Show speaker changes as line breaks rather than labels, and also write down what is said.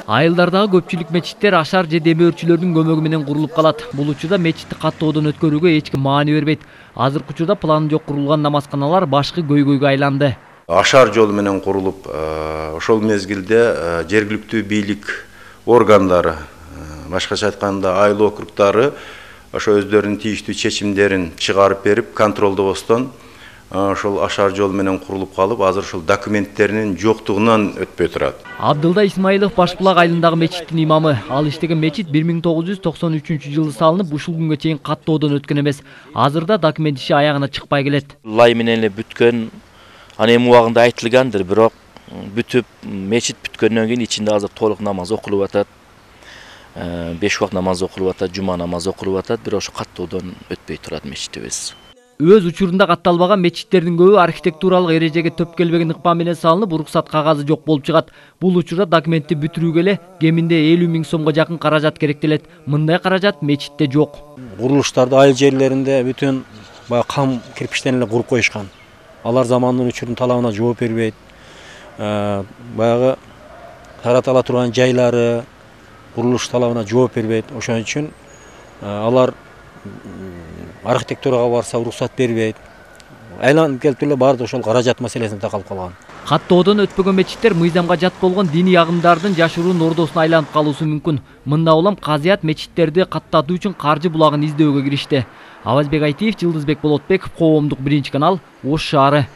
Айылдардагы көпчүлүк мечиттер ашар же демөөрчүлөрдүн көмөгү менен курулуп калат. Бул учурда мечитти каттоодон өткөрүүгө эч ким маани бербейт. Азыркы учурда планы жок курулган намазканалар башкы көйгөйгө айланды.
Ашар жол менен курулуп, ошол мезгилде жергиликтүү бийлик органдары, башкача айтканда айыл округдары ошо өздөрүнүн тийиштүү чечимдерин чыгарып берип, контролдобостон ошол ашар жол менен курулуп калып, азыр ошол документтеринин жоктугунан өтпөй турат.
Абдылда Исмаилов Башбулак айылындагы мечиттин имамы. Ал иштеген мечит 1993-жылы салынып, ушул күнгө чейин каттоодон өткөн эмес. Азырда документ иши аягына чыкпай келет.
Лай менен эле бүткөн, аны эми убагында айтылгандыр, бирок бүтүп мечит бүткөндөн кийин ичинде азыр толук намаз окулуп атат. 5 убак намаз окулуп атат, жума намазы окулуп атат, бирок ошо каттоодон өтпөй турат мечитибиз.
Өз учурунда катталбаган мечиттердин көбү архитектуралык эрежеге төп келбеген ыкма менен салынып, уруксат кагазы жок болуп чыгат. Бул учурда документти бүтүрүүгө эле кеминде 50 000 сомго жакын каражат керектелет. Мындай каражат мечитте жок.
Курулуштарды айыл жерлеринде бүтүн кам кирпичтен эле куруп коюшкан. Алар замандын учурдун талабына жооп бербейт. Баягы таратыла турган жайлары курулуш талабына жооп бербейт. Ошон үчүн алар архитектурага барса уруксат бербейт. Айланып келип эле баары ошол каражат маселесине такалып калган.
Каттоодон өтпөгөн мечиттер мыйзамга жат болгон диний агымдардын жашыруун ордосуна айланып калуусу мүмкүн. Мында улам казыят мечиттерди каттатуу үчүн каржы булагын издөөгө киришти. Авазбек Айтиев, Жылдызбек Болотбеков, Коомдук 1 канал, Ош шаары.